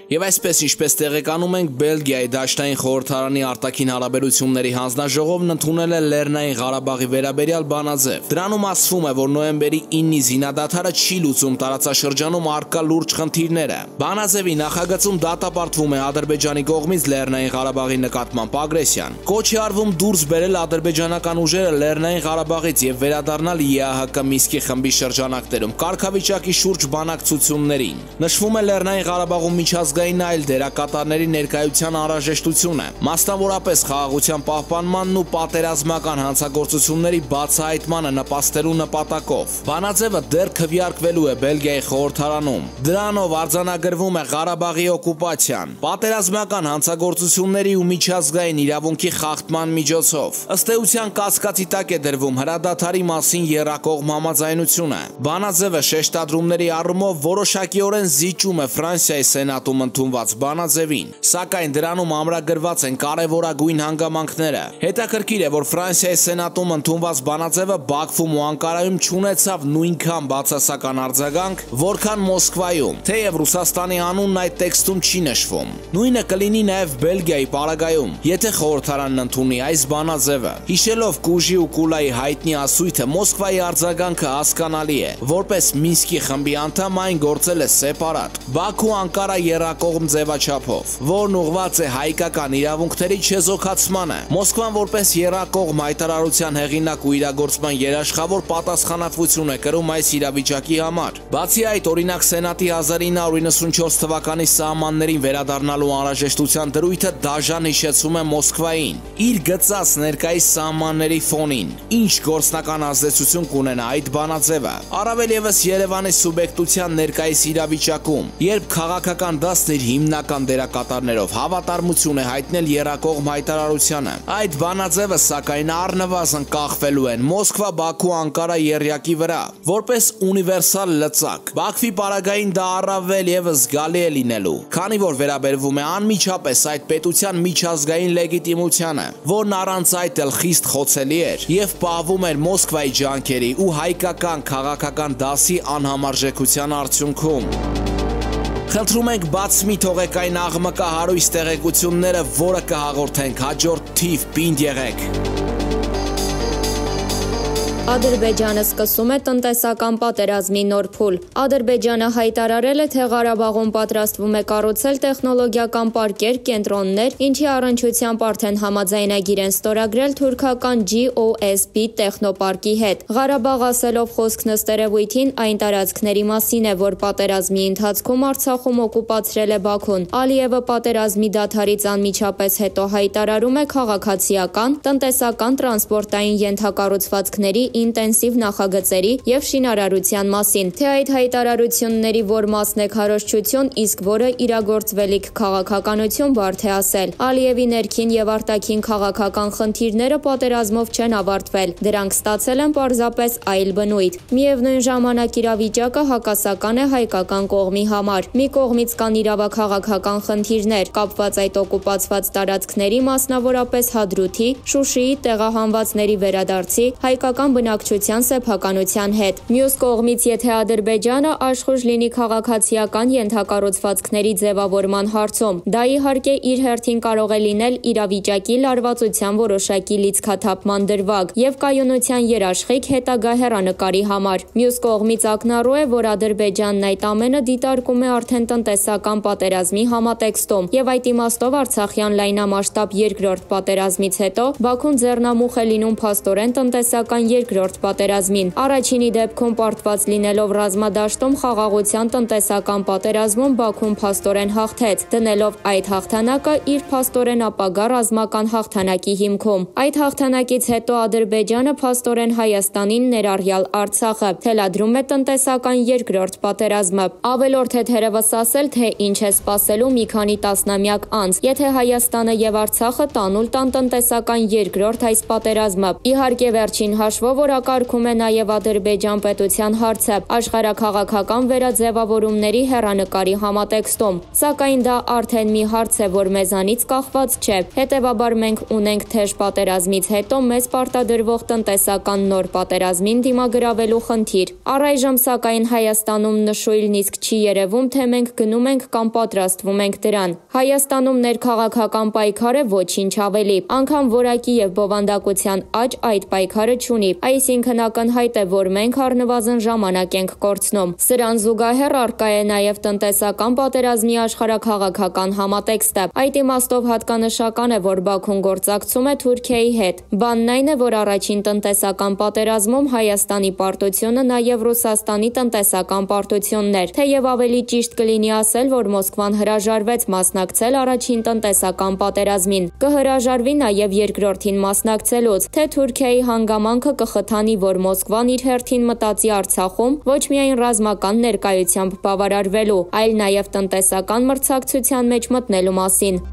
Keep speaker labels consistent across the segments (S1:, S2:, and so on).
S1: Եվ այսպես ինչպես տեղեկանում ենք, Բելգիայի Դաշնային խորհրդարանի արտաքին հարաբերությունների հանձնաժողովն ընդունել է Լեռնային Ղարաբաղի վերաբերյալ բանաձև։ Դրանում ասվում է, որ նոյեմբերի 9-ի զինադադարը չի լուծում տարածաշրջանում առկա լուրջ խնդիրները։ Բանաձևի նախագծում դատապարտվում է Ադրբեջանի կողմից Լեռնային Ղարաբաղի նկատմամբ ագրեսիան։ Կոչ է արվում դուրս բերել ադրբեջանական ուժերը Լեռնային Ղարաբաղից եւ վերադառնալ ԵԱՀԿ Մինսկի խմբի շրջանակներում կարգավիճակի շուրջ բանակցություններին։ Նշվում է Լեռնային Ղարաբաղում միջազգային այլ դերակատարների ներկայության անհրաժեշտությունը, մասնավորապես խաղաղության պահպանմանն ու պատերազմական հանցագործությունների բացահայտմանը նպաստելու նպատակով։ Բանաձևը դեռ քվեարկվելու է Բելգիայի խորհրդարանում։ Դրանով արձանագրվում է Ղարաբաղի օկուպացիան, պատերազմական հանցագործությունների ու միջազգային իրավունքի խախտման միջոցով։ Ըստ էության կասկածի տակ է դրվում հրադադարի մասին եռակողմ համաձայնությունը։ Բանաձևը շեշտադրումների առումով որոշակիորեն զիջում է Ֆրանսիայի սենատում ընդունված բանաձևին, սակայն դրանում ամրագրված են կարևորագույն հանգամանքները։ Հետաքրքիր է, որ Ֆրանսիայի սենատում ընդունված բանաձևը Բաքվում ու Անկարայում չունեցավ նույնքան բացասական արձագանք, որքան Մոսկվայում, թեև Ռուսաստանի անունն այդ տեքստում չի նշվում։ Նույնը կլինի նաև Բելգիայի պարագայում, եթե խորհրդարանն ընդունի այս բանաձևը։ Հիշելով Կուժի ու Կուլայի հայտնի ասույթը, Մոսկվայի արձագանքը հասկանալի է։ Որպես Մինսկի խմբի անդամ այն գործել է սեպարատ, Բաքու-Անկարա եռակողմ ձևաչափով, որն ուղղված է հայկական իրավունքների չեզոքացմանը։ Մոսկվան որպես եռակողմ հայտարարության հեղինակ ու իրագործման երաշխավոր պատասխանատվություն է կրում այս իրավիճակի համար։ Բացի այդ, օրինակ Սենատի 1994 թվականի սահմաններին վերադառնալու անհրաժեշտության դրույթը դաժան հիշեցում է Մոսկվային իր գծած ներկայիս սահմանների ֆոնին։ Ինչ գործնական ազդեցություն կունենա այդ բանաձևը, առավել ևս Երևանի սուբյեկտության ներկայիս իրավիճակում, երբ քաղաքական դաշտն իր հիմնական դերակատարներով հավատարմություն է հայտնել եռակողմ հայտարարությանը։ Այդ բանաձևը սակայն առնվազն կախվելու են Մոսկվա-Բաքու-Անկարա եռյակի վրա, որպես ունիվերսալ լծակ։ Բաքվի պարագային դա առավել ևս զգալի է լինելու, քանի որ վերաբերվում է անմիջապես այդ պետության միջազգային լեգիտիմությանը, որն առանց այդ էլ խիստ խոցելի էր եւ պահվում էր Մոսկվայի ջանքերի ու հայկական քաղաքական դասի անհամարժեքության արդյունքում։ Խնդրում ենք բաց մի թողեք այն աղմկահարույց տեղեկությունները, որը կհաղորդենք հաջորդ թիվ, պինդ եղեք։
S2: Ադրբեջանը սկսում է տնտեսական պատերազմի նոր փուլ։ Ադրբեջանը հայտարարել է, թե Ղարաբաղում պատրաստվում է կառուցել տեխնոլոգիական պարկեր, կենտրոններ, ինչի առնչությամբ արդեն համաձայնագիր են ստորագրել թուրքական GOSP տեխնոպարկի հետ։ Ղարաբաղ ասելով խոսքն ըստ երևույթին այն տարածքների մասին է, որ պատերազմի ընթացքում Արցախում օկուպացրել է Բաքուն։ Ալիևը պատերազմի դադարից անմիջապես հետո հայտարարում է քաղաքացիական, տնտեսական, տրանսպորտային ենթակառուցվածքների ինտենսիվ նախագծերի եւ շինարարության մասին, թե այդ հայտարարությունների որ մասն է քարոզչություն, իսկ որը իրագործվելիք քաղաքականություն բարդ է ասել։ Ալիևի ներքին եւ արտաքին քաղաքական խնդիրները պատերազմով չեն ավարտվել, դրանք ստացել են պարզապես այլ բնույթ։ Միևնույն ժամանակ իրավիճակը հակասական է հայկական կողմի համար։ Մի կողմից կան իրավաքաղաքական խնդիրներ, կապված այդ օկուպացված տարածքների, մասնավորապես Հադրութի, Շուշիի տեղահանվածների վերադարձի, հայկական բնակչության սեփականության հետ։ Մյուս կողմից, եթե Ադրբեջանը աշխուժ լինի քաղաքացիական ենթակառուցվածքների ձևավորման հարցում, դա իհարկե իր հերթին կարող է լինել իրավիճակի լարվածության որոշակի լիցքաթափման դրվագ եւ կայունության երաշխիք հետագա հեռանկարի համար։ Մյուս կողմից ակնառու է, որ Ադրբեջանն այդ ամենը դիտարկում է արդեն տնտեսական պատերազմի համատեքստում եւ այդ իմաստով Արցախյան լայնամասշտաբ երկրորդ պատերազմից հետո Բաքուն ձեռնամուխ է լինում փաստորեն տնտեսական երկրորդ պատերազմին։ Առաջինի դեպքում պարտված լինելով ռազմադաշտում խաղաղության տնտեսական պատերազմում Բաքուն փաստորեն հաղթեց, դնելով այդ հաղթանակը իր փաստորեն ապագա ռազմական հաղթանակի հիմքում։ Այդ հաղթանակից հետո Ադրբեջանը փաստորեն Հայաստանին ներառյալ Արցախը թելադրում է տնտեսական երկրորդ պատերազմը։ Ավելորդ է թերևս ասել, թե ինչ է սպասելու մի քանի տասնամյակ անց, եթե Հայաստանը եւ Արցախը տանուլ տան տնտեսական երկրորդ այս պատերազմը։ Իհարկե վերջին հաշվով օրակարգում է նաև Ադրբեջան պետության հարցը աշխարհաքաղաքական վերաձևավորումների հեռանկարի համատեքստում, սակայն դա արդեն մի հարց է, որ մեզանից կախված չէ, հետևաբար մենք ունենք թեժ պատերազմից հետո մեզ պարտադրվող տնտեսական նոր պատերազմին դիմագրավելու խնդիր։ Առայժմ սակայն Հայաստանում նշույլն իսկ չի երևում, թե մենք գնում ենք կամ պատրաստվում ենք դրան։ Հայաստանում ներքաղաքական պայքար է, ոչինչ ավելի, անգամ որակի եւ բովանդակության աճ այդ պայքարը չունի, այսինքն ակնհայտ է, որ մենք առնվազն ժամանակ ենք կորցնում։ Սրան զուգահեռ առկա է նաև տնտեսական պատերազմի աշխարհաքաղաքական համատեքստը։ Այդ իմաստով հատկանշական է, որ Բաքուն գործակցում է Թուրքիայի հետ։ Բանն այն է, որ առաջին տնտեսական պատերազմում Հայաստանի պարտությունը նաև Ռուսաստանի տնտեսական պարտությունն էր, թեև ավելի ճիշտ կլինի ասել, որ Մոսկվան հրաժարվեց մասնակցել առաջին տնտեսական պատերազմին, կհրաժարվի նաև երկրորդին մասնակցելուց, թե Թուրքիայի հանգամանքը կխթանի, որ Մոսկվան իր հերթին մտածի Արցախում ոչ միայն ռազմական ներկայությամբ բավարարվելու, այլ նաև տնտեսական մրցակցության մեջ մտնելու մասին։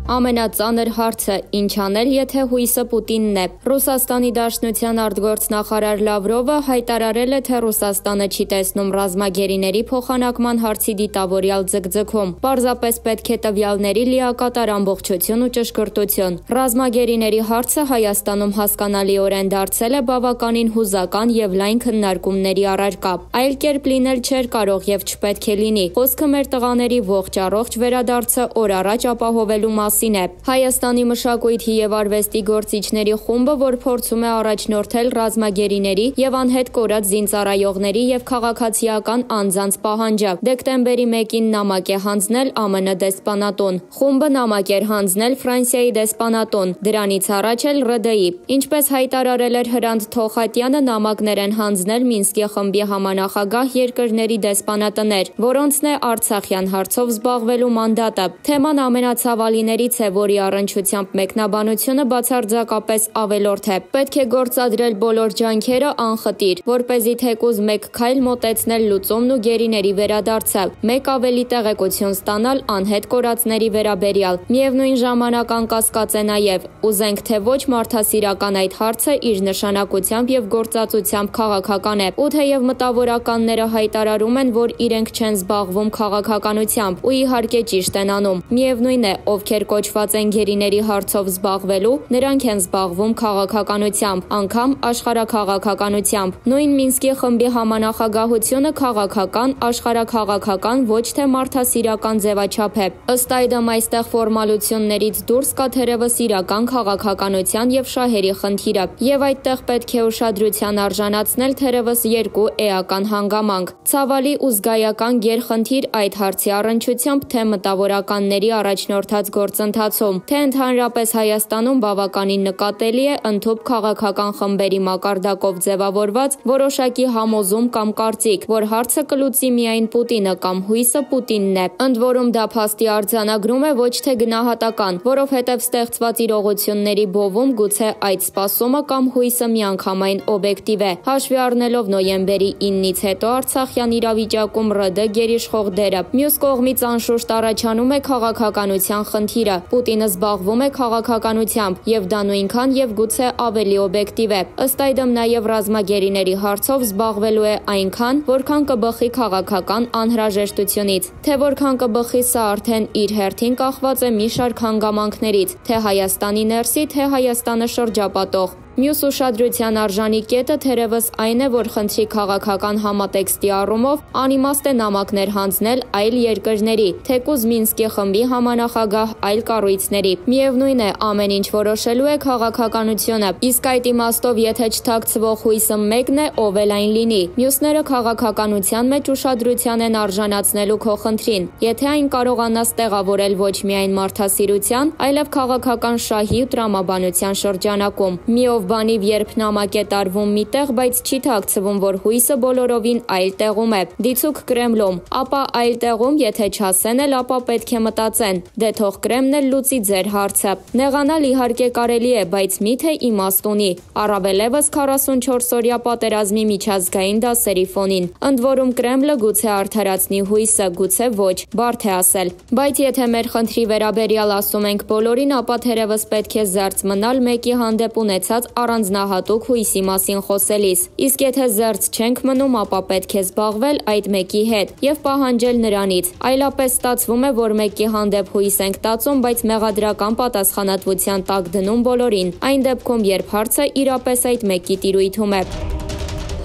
S2: Ամենածանր հարցը՝ ինչ անել, եթե հույսը Պուտինն է։ Ռուսաստանի Դաշնության արտգործնախարար Լավրովը հայտարարել է, թե Ռուսաստանը չի տեսնում ռազմագերիների փոխանակման հարցի դիտավորյալ ձգձգում։ Պարզապես պետք է տվյալների լիակատար ամբողջություն ու ճշգրտություն։ Ռազմագերիների հարցը Հայաստանում հասկանալիորեն դարձել է բավականին հուզական եւ լայն քննարկումների առարկա։ Այլ կերպ լինել չէր կարող եւ չպետք է լինի։ Խոսքը մեր տղաների ողջ առողջ վերադարձը օր առաջ ապահովելու Հայաստանի մշակույթի եւ արվեստի գործիչների խումբը, որ փորձում է առաջնորդել ռազմագերիների եւ անհետ կորած զինծառայողների եւ քաղաքացիական անձանց պահանջը, դեկտեմբերի 1-ին նամակ է հանձնել ԱՄՆ դեսպանատուն։ Խումբը նամակ էր հանձնել Ֆրանսիայի դեսպանատուն, դրանից առաջ էլ ՌԴ-ի։ Ինչպես հայտարարել էր Հրանտ Թոխատյանը, նամակներ են հանձնել Մինսկի խմբի համանախագահ երկրների դեսպանատներ, որոնցն է Արցախյան հարցով զբաղվելու մանդատը։ Թեման ամենացավալիների որի առնչությամբ մեկնաբանությունը բացարձակապես ավելորդ է։ Պետք է գործադրել բոլոր ջանքերը անխտիր, որպեսզի թեկուզ մեկ քայլ մոտեցնել լուծումն ու գերիների վերադարձը, մեկ ավելի տեղեկություն ստանալ անհետ կորածների վերաբերյալ։ Միևնույն ժամանակ անկասկած է նաև, ուզենք թե ոչ, մարդասիրական այդ հարցը իր նշանակությամբ եւ գործածությամբ քաղաքական է, ու թեև մտավորականները հայտարարում են, որ իրենք չեն զբաղվում քաղաքականությամբ, ու իհարկե ճիշտ են անում, միևնույն է, ովքեր կոչված են գերիների հարցով զբաղվելու, նրանք են զբաղվում քաղաքականությամբ, անգամ աշխարհաքաղաքականությամբ։ Նույն Մինսկի խմբի համանախագահությունը քաղաքական, աշխարհաքաղաքական, ոչ թե մարդասիրական ձևաչափ է։ Ըստ այդմ այստեղ ֆորմալություններից դուրս կա թերևս իրական քաղաքականության եւ շահերի խնդիրը, եւ այդտեղ պետք է ուշադրության արժանացնել թերևս երկու էական հանգամանք՝ ցավալի ու զգայական գերխնդիր այդ հարցի առնչությամբ, թե մտավորականների առաջնորդած գործընթացում, թե ընդհանրապես Հայաստանում բավականին նկատելի է ընդհուպ քաղաքական խմբերի մակարդակով ձևավորված որոշակի համոզում կամ կարծիք, որ հարցը կլուծի միայն Պուտինը կամ հույսը Պուտինն է։ Ընդ որում դա փաստի արձանագրում է, ոչ թե գնահատական, որովհետև ստեղծված իրողությունների բովում գուցե այդ սպասումը կամ հույսը միանգամայն օբյեկտիվ է։ Հաշվի առնելով նոյեմբերի 9-ից հետո Արցախյան իրավիճակում ՌԴ գերիշխող դերը, մյուս կողմից անշուշտ առաջանում է քաղաքականության խնդիրը։ Պուտինը զբաղվում է քաղաքականությամբ, եւ դա նույնքան եւ գուցե ավելի օբյեկտիվ է։ Ըստ այդմ նաեւ ռազմագերիների հարցով զբաղվելու է այնքան, որքան կբխի քաղաքական անհրաժեշտությունից։ Թե որքան կբխի, սա արդեն իր հերթին կախված է մի շարք հանգամանքներից, թե Հայաստանի ներսի, թե Հայաստանը շրջապատող։ Մյուս ուշադրության արժանի կետը թերևս այն է, որ խնդրի քաղաքական համատեքստի առումով անիմաստ է նամակներ հանձնել այլ երկրների, թեկուզ Մինսկի խմբի համանախագահ այլ կառույցների։ Միևնույն է, ամեն ինչ որոշելու է քաղաքականությունը, իսկ այդ իմաստով եթե չթաքցվող հույսը մեկն է, ով էլ այն լինի, մյուսները քաղաքականության մեջ ուշադրության են արժանացնելու քո խնդրին, եթե այն կարողանաս տեղավորել ոչ միայն մարդասիրության, այլև քաղաքական շահի ու տրամաբանության շրջանակում։ Միով բանիվ երբ նամակ է տարվում միտեղ, բայց չի թաքցվում, որ հույսը բոլորովին այլ տեղում է, դիցուք Կրեմլում, ապա այլ տեղում, եթե չասեն էլ, ապա պետք է մտածեն, դե թող Կրեմլն էլ լուծի ձեր հարցը։ Նեղանալ իհարկե կարելի է, բայց միթե իմաստ ունի, առավելևս 44-օրյա պատերազմի միջազգային դասերի ֆոնին։ Ընդ որում Կրեմլը գուցե արդարացնի հույսը, գուցե ոչ, բարդ է ասել։ Բայց եթե մեր խնդրի վերաբերյալ ասում ենք բոլորին, ապա թերևս պետք է զերծ մնալ մեկի հանդեպ ունեցած առանձնահատուկ հույսի մասին խոսելիս։ Իսկ եթե զերծ չենք մնում, ապա պետք է զբաղվել այդ մեկի հետ եւ պահանջել նրանից։ Այլապես ստացվում է, որ մեկի հանդեպ հույս ենք տածում, բայց մեղադրական պատասխանատվության տակ դնում բոլորին, այն դեպքում, երբ հարցը իրապես այդ մեկի տիրույթում է։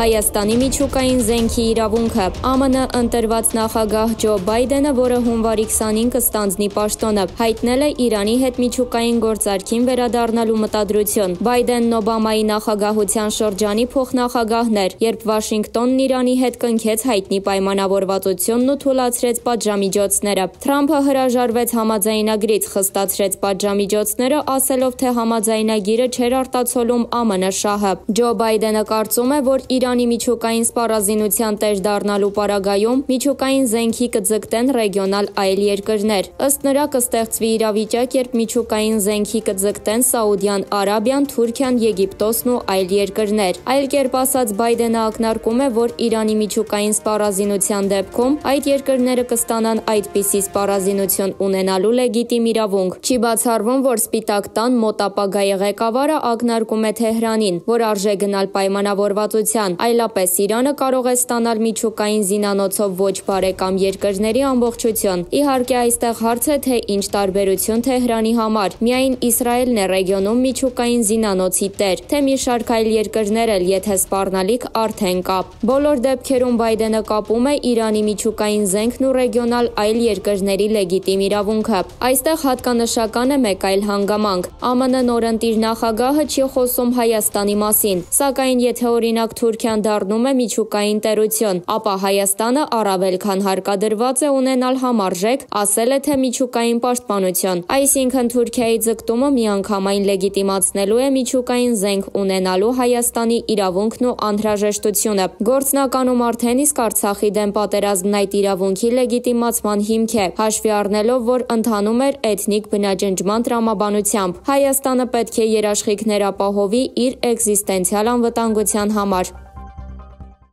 S2: Հայաստանի միջուկային զենքի իրավունքը։ ԱՄՆ ընտրված նախագահ Ջո Բայդենը, որը հունվարի 25-ը ստանձնի պաշտոնը, հայտնել է Իրանի հետ միջուկային գործարքին վերադառնալու մտադրություն։ Բայդենն Օբամայի նախագահության շրջանի փոխնախագահն էր, երբ Վաշինգտոնն Իրանի հետ կնքեց հայտնի պայմանավորվածությունն ու թուլացրեց պատժամիջոցները։ Թրամփը հրաժարվեց համաձայնագրից, խստացրեց պատժամիջոցները, ասելով, թե համաձայնագիրը չէր արտացոլում ԱՄՆ շահը։ Ջո Բայդենը կարծում է, որ Իրանի միջուկային սպառազինության տեր դառնալու պարագայում միջուկային զենքի կձգտեն ռեգիոնալ այլ երկրներ։ Ըստ նրա կստեղծվի իրավիճակ, երբ միջուկային զենքի կձգտեն Սաուդյան Արաբիան, Թուրքիան, Եգիպտոսն ու այլ երկրներ։ Այլ կերպ ասած, Բայդենը ակնարկում է, որ Իրանի միջուկային սպառազինության դեպքում այդ երկրները կստանան այդպիսի սպառազինություն ունենալու լեգիտիմ իրավունք։ Չի բացառվում, որ Սպիտակ տան մոտ ապագայի ղեկավարը ակնարկում է Թեհրանին, որ արժե գնալ պայմանավորվածության, այլապես Իրանը կարող է ստանալ միջուկային զինանոցով ոչ բարեկամ երկրների ամբողջություն։ Իհարկե, այստեղ հարց է, թե ինչ տարբերություն Թեհրանի համար։ Միայն Իսրայելն է ռեգիոնում միջուկային զինանոցի տեր, թե մի շարք այլ երկրներ էլ, եթե սպառնալիք արդեն կա։ Բոլոր դեպքերում Բայդենը կապում է Իրանի միջուկային զենքն ու ռեգիոնալ այլ երկրների լեգիտիմ իրավունքը։ Այստեղ հատկանշական է մեկ այլ հանգամանք։ ԱՄՆ նորընտիր նախագահը չի խոսում Հայաստանի մասին, սակայն եթե օրինակ Թուրքիան դառնում է միջուկային տերություն, ապա Հայաստանը առավել քան հարկադրված է ունենալ համարժեք, ասել է, թե միջուկային պաշտպանություն։ Այսինքն Թուրքիայի ձգտումը միանգամայն լեգիտիմացնելու է միջուկային զենք ունենալու Հայաստանի իրավունքն ու անհրաժեշտությունը։ Գործնականում արդեն իսկ Արցախի դեմ պատերազմն այդ իրավունքի լեգիտիմացման հիմք է, հաշվի առնելով, որ ընթանում էր էթնիկ բնաջնջման տրամաբանությամբ։ Հայաստանը պետք է երաշխիքներ ապահովի իր էկզիստենցիալ անվտանգության համար։